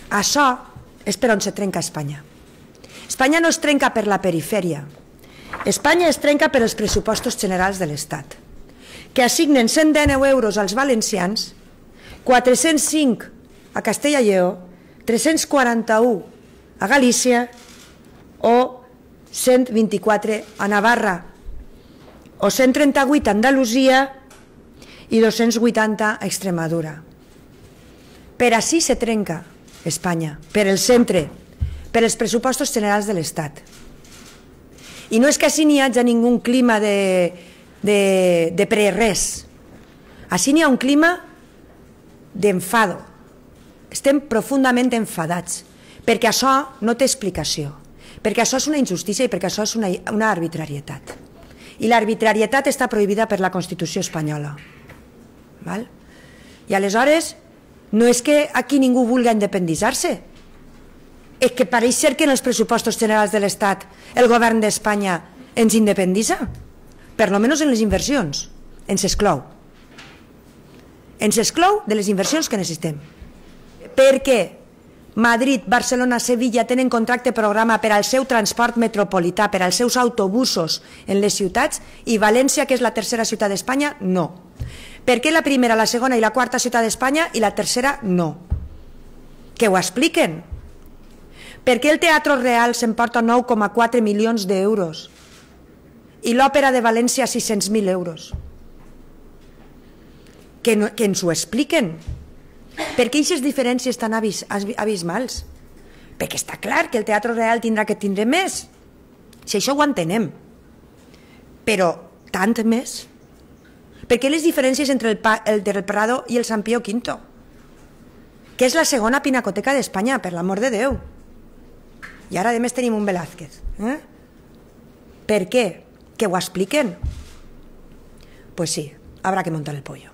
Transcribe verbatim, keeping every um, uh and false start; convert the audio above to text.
Això és per on se trenca Espanya. Espanya no es trenca per la perifèria. Espanya es trenca per els pressupostos generals de l'Estat, que assignen cent deu euros als valencians, quatre-cents cinc a Castella i Lleó, tres-cents quaranta-u a Galícia o cent vint-i-quatre a Navarra, o cent trenta-vuit a Andalusia i dos-cents vuitanta a Extremadura. Per així se trenca Espanya, per el centre, per els pressupostos generals de l'Estat. I no és que així n'hi hagi ningú clima de, de, de pre-res. Així n'hi ha un clima d'enfado. Estem profundament enfadats, perquè això no té explicació, perquè això és una injustícia i perquè això és una, una arbitrarietat. I l'arbitrarietat està prohibida per la Constitució espanyola. Val? I aleshores, no és que aquí ningú vulgui independitzar-se, és que pareix ser que en els pressupostos generals de l'Estat el govern d'Espanya ens independitza, per lo menys en les inversions, ens exclou. Ens exclou de les inversions que necessitem. Perquè Madrid, Barcelona, Sevilla tenen contracte programa per al seu transport metropolità, per als seus autobusos en les ciutats, i València, que és la tercera ciutat d'Espanya, no. Per què la primera, la segona i la quarta ciutat d'Espanya i la tercera no? Que ho expliquen. Per què el Teatre Real s'emporta nou coma quatre milions d'euros i l'Òpera de València sis-cents mil euros? Que, no, que ens ho expliquen. Per què aquestes diferències tan abis, abismals? Perquè està clar que el Teatre Real tindrà que tindre més. Si això ho entenem. Però tant més? Per què les diferències entre el, el del Prado i el Sant Pío Quinto? Que és la segona pinacoteca d'Espanya, per l'amor de Déu. I ara a més tenim un Velázquez. Eh? Per què? Que ho expliquen? Pues sí, habrá que montar el pollo.